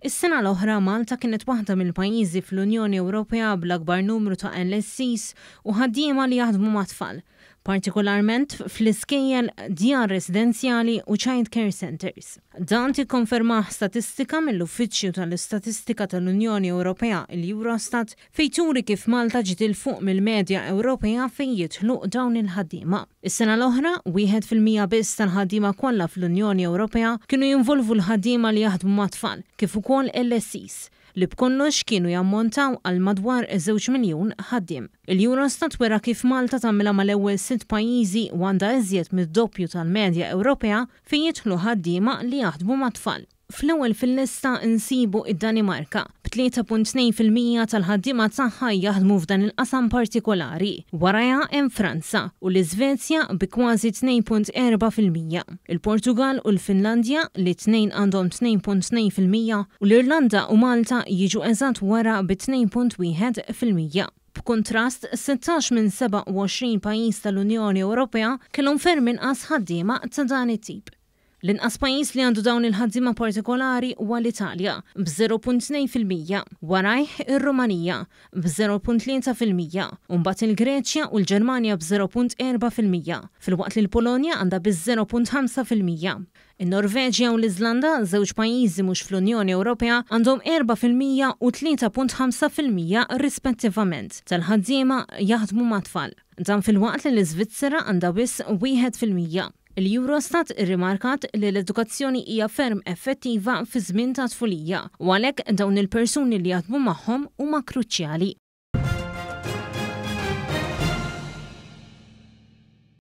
Is-sena l-oħra Malta kienet waħda mill-pajjiżi fl-Unjoni Ewropea bl-akbar numru ta' LSEs u ħaddiema li jaħdmu mat-tfal, partikolarment fl-iskejjel, djar residenzjali u child care centres. Dan tikkonfermah statistika mill-Uffiċċju tal-Istatistika tal-Unjoni Ewropea, il-Eurostat, fejn turi kif Malta ġiet 'il fuq mill-medja Ewropea fejn jidħlu dawn il-ħaddiema. Is-sena l-oħra, 1% biss tal-ħaddiema kollha fl-Unjoni Ewropea kienu jinvolvu l-ħaddiema li jaħdmu mat-tfal, kif ukoll LSEs, li b'kollox kienu jammontaw għal madwar 2 miljun ħaddiem. Il-Eurostat wera kif Malta tagħmilha mal-ewwel sitt pajjiżi u għandha iżjed mid-doppju tal-medja Ewropea fejn jidħlu ħaddiema li jaħdmu mat-tfal. Fl-ewwel fil-lista nsibu id-Danimarka, b'3.2% tal-ħaddiema tagħha jaħdmu f'dan il-qasam partikolari. Warajha hemm Franza u l-Iżvezja bi kważi 2.4%. Il-Portugal u l-Finlandja li t-tnejn għandhom 2.2% u l-Irlanda u Malta jiġu eżatt wara bi 2.1%. B'kuntrast, 16 minn 27 pajjiż tal-Unjoni Ewropea kellhom ferm inqas ħaddiema ta' dan it-tip. L-inqas pajjiż li għandu dawn il-ħaddiema partikolari huwa l-Italja b'0.2%, warajh ir-Rumanija b'0.3% u mbagħad il-Greċja u l-Ġermanja b'0.4%, filwaqt li l-Polonja għandha biss 0.5%. In-Norveġja u l-Iżlanda, żewġ pajjiżi mhux fl-Unjoni Ewropea, għandhom 4% u 3.5% rispettivament tal-ħaddiema jaħdmu mat-tfal. Dan filwaqt li l-Iżvizzera għandha biss 1%. Il-Eurostat irrimarkat li l-edukazzjoni hija ferm effettiva fi żmien ta' tfulija u għalhekk dawn il-persuni li jaħdmu magħhom huma kruċjali.